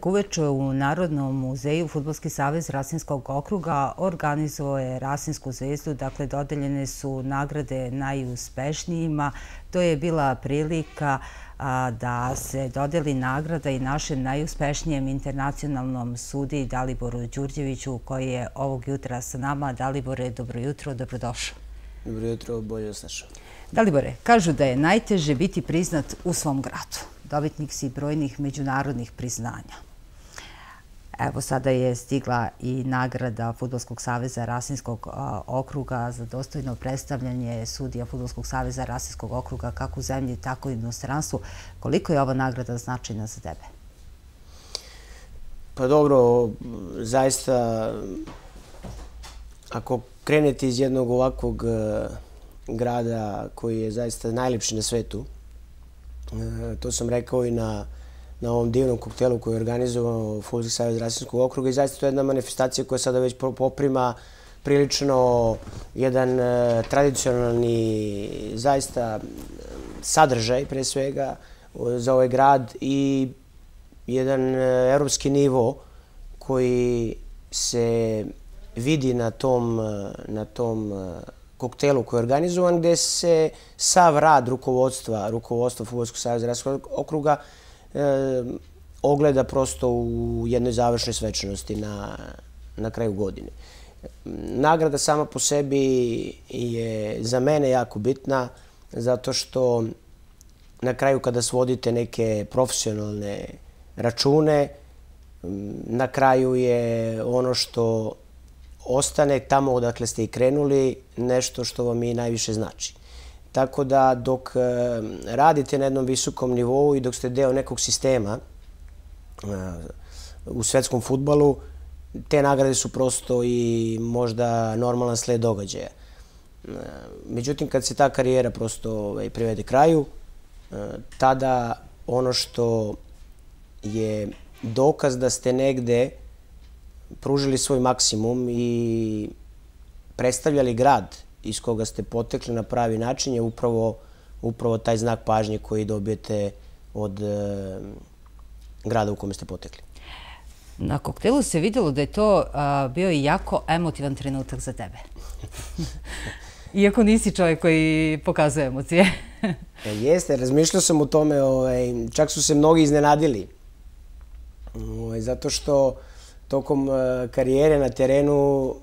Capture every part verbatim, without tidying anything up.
Uveče u Narodnom muzeju Fudbalski savez Rasinskog okruga organizovao je Rasinsku zvezdu, dakle dodeljene su nagrade najuspešnijima. To je bila prilika da se dodeli nagrada i našem najuspešnijem internacionalnom sudiji Daliboru Đurđeviću, koji je ovog jutra sa nama. Dalibore, dobro jutro, dobrodošao. Dobro jutro, bolje vas našao. Dalibore, kažu da je najteže biti priznat u svom gradu. Dobitnik si brojnih međunarodnih priznanja. Evo, sada je stigla i nagrada Fudbalskog saveza Rasinskog okruga za dostojno predstavljanje sudija Fudbalskog saveza Rasinskog okruga kako u zemlji, tako i u inostranstvu. Koliko je ova nagrada značajna za tebe? Pa dobro, zaista, ako krenete iz jednog ovakvog grada koji je zaista najlepši na svetu, to sam rekao i na na ovom divnom koktelu koji je organizovao Fudbalski savez Rasinskog okruga, i zaista to je jedna manifestacija koja sada već poprima prilično jedan tradicionalni zaista sadržaj pre svega za ovaj grad i jedan evropski nivo koji se vidi na tom na tom koktelu koji je organizovan, gde se sav rad rukovodstva rukovodstva Fudbalskog saveza Rasinskog okruga ogleda prosto u jednoj završnoj svečanosti na, na kraju godine. Nagrada sama po sebi je za mene jako bitna, zato što na kraju kada svodite neke profesionalne račune, na kraju je ono što ostane tamo odakle ste i krenuli nešto što vam i najviše znači. Tako da dok radite na jednom visokom nivou i dok ste deo nekog sistema u svetskom fudbalu, te nagrade su prosto i možda normalan sled događaja. Međutim, kad se ta karijera prosto privede kraju, tada ono što je dokaz da ste negde pružili svoj maksimum i predstavljali grad iz koga ste potekli na pravi način je upravo, upravo taj znak pažnje koji dobijete od e, grada u kome ste potekli. Na koktelu se vidjelo da je to a, bio i jako emotivan trenutak za tebe. Iako nisi čovjek koji pokazuje emocije. E, jeste, razmišljao sam o tome, ovaj, čak su se mnogi iznenadili. Ovaj, zato što tokom e, karijere na terenu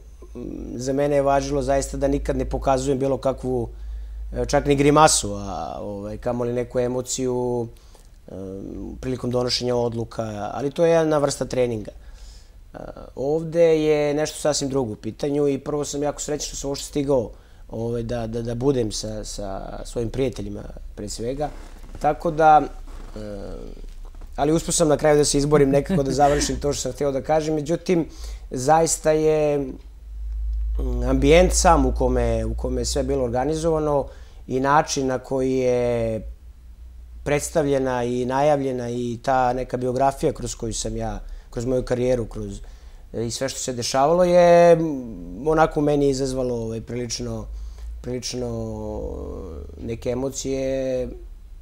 za mene je važilo zaista da nikad ne pokazujem bilo kakvu, čak ni grimasu, a ovaj, kamoli neku emociju um, prilikom donošenja odluka, ali to je jedna vrsta treninga. Uh, ovde je nešto sasvim drugo u pitanju i prvo sam jako srećan što sam uopšte stigao ovaj, da, da, da budem sa, sa svojim prijateljima pre svega, tako da, uh, ali uspio sam na kraju da se izborim nekako da završim to što sam htio da kažem, međutim, zaista je ambijent sam u kome, u kome je sve bilo organizovano i način na koji je predstavljena i najavljena i ta neka biografija kroz koju sam ja, kroz moju karijeru, kroz i sve što se dešavalo je onako meni izazvalo ovaj, prilično, prilično neke emocije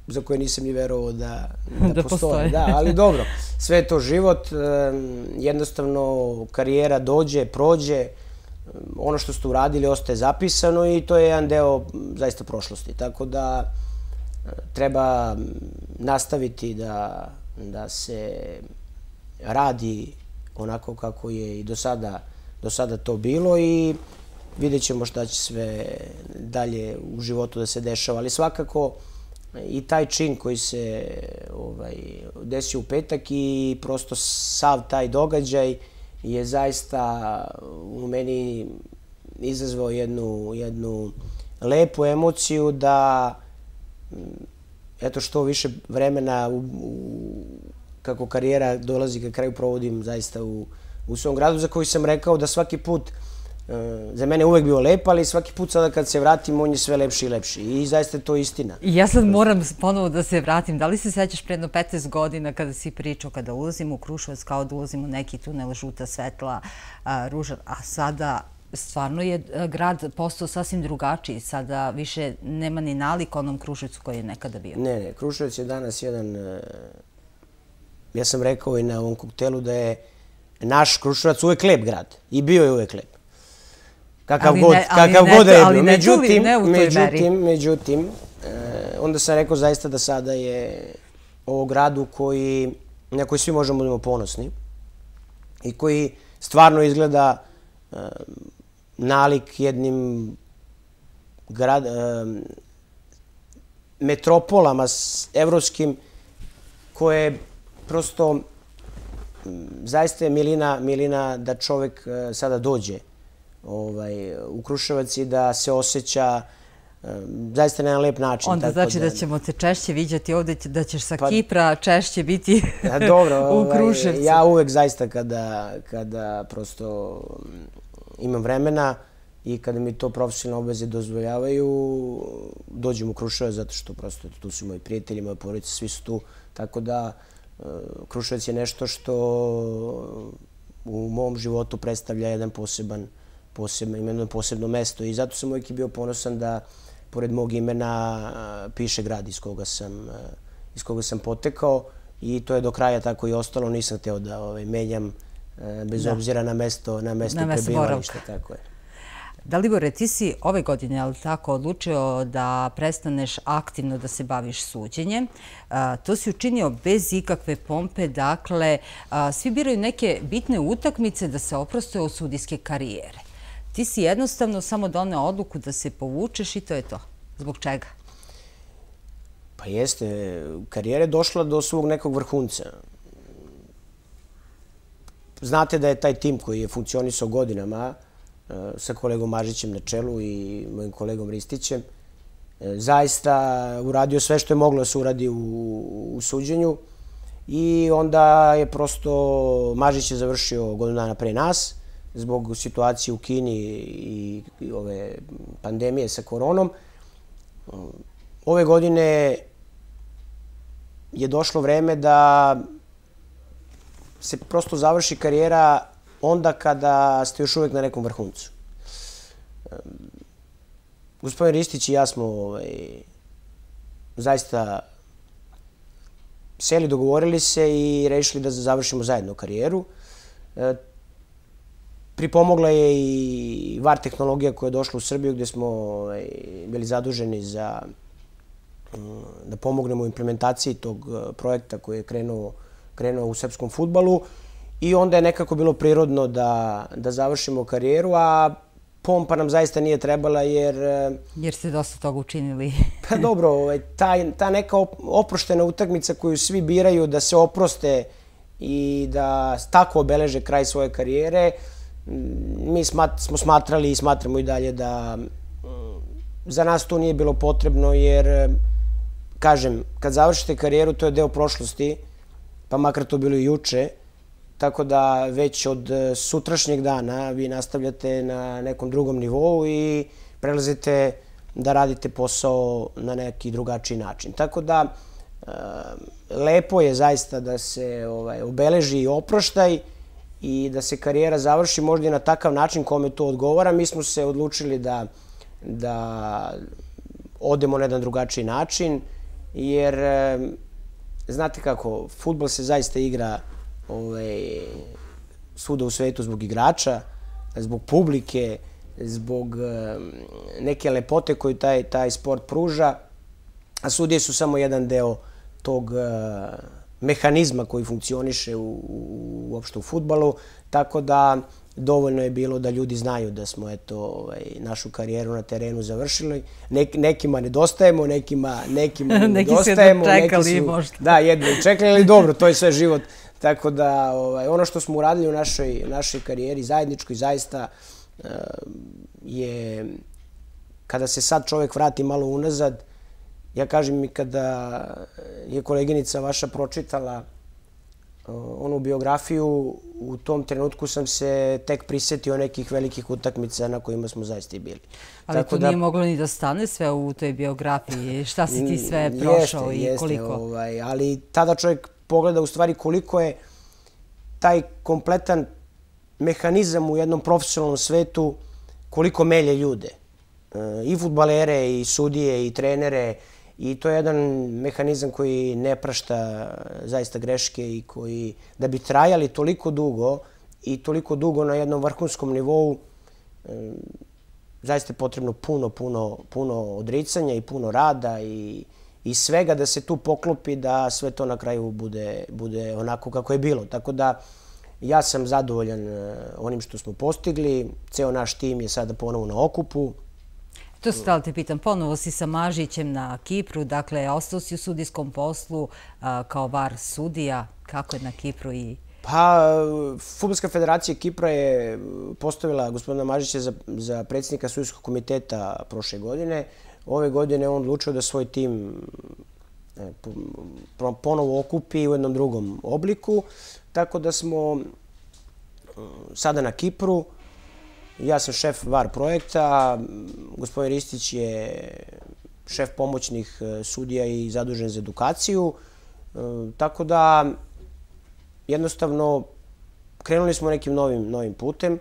za koje nisam ni verovao da, da, da postoje. postoje. Da, ali dobro, sve je to život, jednostavno karijera dođe, prođe, ono što ste uradili ostaje zapisano i to je jedan deo zaista prošlosti. Tako da treba nastaviti da, da se radi onako kako je i do sada, do sada to bilo i vidjet ćemo šta će sve dalje u životu da se dešava. Ali svakako i taj čin koji se ovaj, desio u petak i prosto sav taj događaj je zaista u meni izazvao jednu, jednu lepu emociju da eto što više vremena u, u, kako karijera dolazi ka kraju provodim zaista u, u svom gradu za koji sam rekao da svaki put za mene uvek bio lep, ali svaki put sada kad se vratim on je sve lepši i lepši i zaista je to istina. Ja sad moram ponovo da se vratim. Da li se sećaš pre jedno petnaest godina kada si pričao kada ulazim u Kruševac kao da ulazim u neki tunel, žuta svetla, ruža, a sada stvarno je grad postao sasvim drugačiji. Sada više nema ni nalik onom Kruševcu koji je nekada bio. Ne, ne, Kruševac je danas jedan ja sam rekao i na ovom koktelu da je naš Kruševac uvek lep grad. I bio je uvek lep. Kakav god, kakav god da je bio. Međutim, međutim, međutim, onda sam rekao zaista da sada je ovo gradu koji, na koji svi možemo da budemo ponosni i koji stvarno izgleda nalik jednim grad, metropolama evropskim koje prosto zaista je milina, milina da čovek sada dođe u Kruševac i da se osjeća zaista na jedan lep način. Onda znači da ćemo te češće viđati ovde, da ćeš sa Kipra češće biti u Kruševcu. Ja uvek zaista kada prosto imam vremena i kada mi to profesionalne obveze dozvoljavaju, dođem u Kruševac zato što prosto tu su moji prijatelji, moje porodice, svi su tu. Tako da Kruševac je nešto što u mom životu predstavlja jedan poseban, ima jedno posebno mesto i zato sam uvijek bio ponosan da pored mog imena piše grad iz koga sam, iz koga sam potekao i to je do kraja tako i ostalo. Nisam hteo da menjam bez obzira na mesto, na mesto prebivališta. Tako je. Dalibore, ti si ove godine, ali tako, odlučio da prestaneš aktivno da se baviš suđenjem. To si učinio bez ikakve pompe, dakle, svi biraju neke bitne utakmice da se oproste od sudijske karijere. Ti si jednostavno samo doneo odluku da se povučeš i to je to. Zbog čega? Pa jeste, karijera je došla do svog nekog vrhunca. Znate da je taj tim koji je funkcionisao godinama sa kolegom Mažićem na čelu i mojim kolegom Ristićem, zaista uradio sve što je moglo da se uradi u suđenju i onda je prosto Mažić je završio godinu dana pre nas zbog situacije u Kini i ove pandemije sa koronom. Ove godine je došlo vreme da se prosto završi karijera onda kada ste još uvijek na nekom vrhuncu. Gospodin Ristić i ja smo zaista seli, dogovorili se i rešili da završimo zajedno karijeru. Pripomogla je i V A R tehnologija koja je došla u Srbiju gdje smo bili zaduženi za da pomognemo u implementaciji tog projekta koji je krenuo u srpskom fudbalu. I onda je nekako bilo prirodno da završimo karijeru, a pompa nam zaista nije trebala jer... Jer ste dosta toga učinili. Pa dobro, ta neka oproštena utakmica koju svi biraju da se oproste i da tako obeleže kraj svoje karijere, mi smo smatrali i smatramo i dalje da za nas to nije bilo potrebno jer, kažem, kad završite karijeru to je deo prošlosti, pa makar to bilo i juče, tako da već od sutrašnjeg dana vi nastavljate na nekom drugom nivou i prelazite da radite posao na neki drugačiji način. Tako da lepo je zaista da se obeleži i oproštaj i da se karijera završi možda i na takav način kome to odgovara. Mi smo se odlučili da odemo na jedan drugačiji način jer znate kako, fudbal se zaista igra svuda u svetu zbog igrača, zbog publike, zbog neke lepote koju taj sport pruža, a sudije su samo jedan deo tog mehanizma koji funkcioniše uopšte u fudbalu, tako da dovoljno je bilo da ljudi znaju da smo našu karijeru na terenu završili. Nekima nedostajemo, nekima nedostajemo. Neki su jedno čekali možda. Da, jedno čekali, ali dobro, to je sve život. Tako da ono što smo uradili u našoj karijeri zajedničkoj zaista je, kada se sad čovjek vrati malo unazad, ja kažem i kada je koleginica vaša pročitala onu biografiju, u tom trenutku sam se tek prisetio nekih velikih utakmica na kojima smo zaista i bili. Ali to nije moglo ni da stane sve u toj biografiji. Šta si ti sve prošao i koliko? Jeste, ali tada čovjek pogleda u stvari koliko je taj kompletan mehanizam u jednom profesionalnom svetu, koliko melje ljude. I fudbalere, i sudije, i trenere, i to je jedan mehanizam koji ne prašta zaista greške i koji, da bi trajali toliko dugo i toliko dugo na jednom vrhunskom nivou, zaista je potrebno puno, puno, puno odricanja i puno rada i, i svega da se tu poklopi da sve to na kraju bude, bude onako kako je bilo. Tako da ja sam zadovoljan onim što smo postigli. Ceo naš tim je sada ponovo na okupu. To se da li te pitam, ponovo si sa Mažićem na Kipru, dakle, ostao si u sudijskom poslu kao var sudija. Kako je na Kipru i... Pa, Fudbalska federacija Kipra je postavila gospodina Mažića za, za predsjednika sudijskog komiteta prošle godine. Ove godine on odlučio da svoj tim e, ponovo okupi u jednom drugom obliku. Tako da smo sada na Kipru. Ja sam šef var projekta, gospodin Ristić je šef pomoćnih sudija i zadužen za edukaciju. E, tako da jednostavno, krenuli smo nekim novim, novim putem.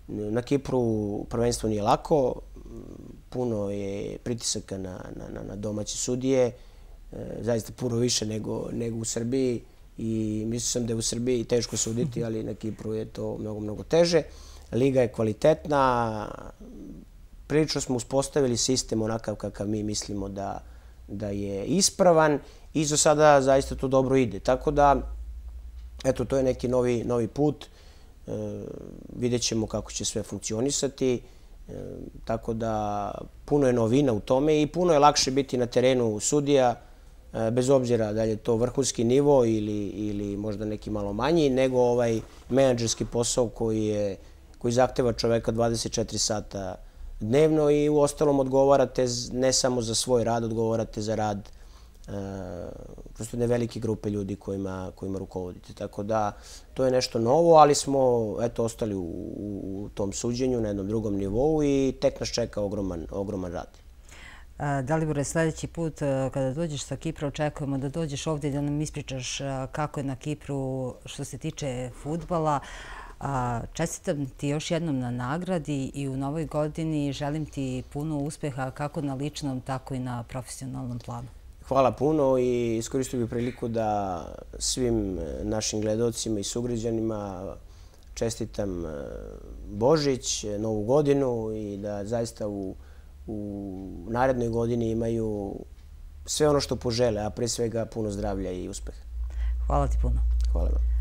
Na Kipru prvenstvo nije lako. Puno je pritisaka na, na, na domaće sudije. Zaista puno više nego, nego u Srbiji. I mislio sam da je u Srbiji teško suditi, ali na Kipru je to mnogo, mnogo teže. Liga je kvalitetna. Prilično smo uspostavili sistem onakav kakav mi mislimo da, da je ispravan. I za sada zaista to dobro ide. Tako da, eto, to je neki novi, novi put. E, vidjet ćemo kako će sve funkcionisati. E, tako da puno je novina u tome i puno je lakše biti na terenu sudija, e, bez obzira da li je to vrhunski nivo ili, ili možda neki malo manji, nego ovaj menadžerski posao koji, je, koji zahteva čoveka dvadeset četiri sata dnevno i u ostalom odgovarate ne samo za svoj rad, odgovarate za rad Uh, prosto ne velike grupe ljudi kojima, kojima rukovodite. Tako da to je nešto novo, ali smo eto, ostali u, u tom suđenju na jednom drugom nivou i tek nas čeka ogroman, ogroman rad. Dalibore, sljedeći put kada dođeš sa Kipra, očekujemo da dođeš ovdje da nam ispričaš kako je na Kipru što se tiče fudbala. Čestitam ti još jednom na nagradi i u novoj godini želim ti puno uspeha kako na ličnom, tako i na profesionalnom planu. Hvala puno i iskoristio bih priliku da svim našim gledalcima i sugrađanima čestitam Božić, Novu godinu i da zaista u, u narednoj godini imaju sve ono što požele, a pre svega puno zdravlja i uspeha. Hvala ti puno. Hvala vam.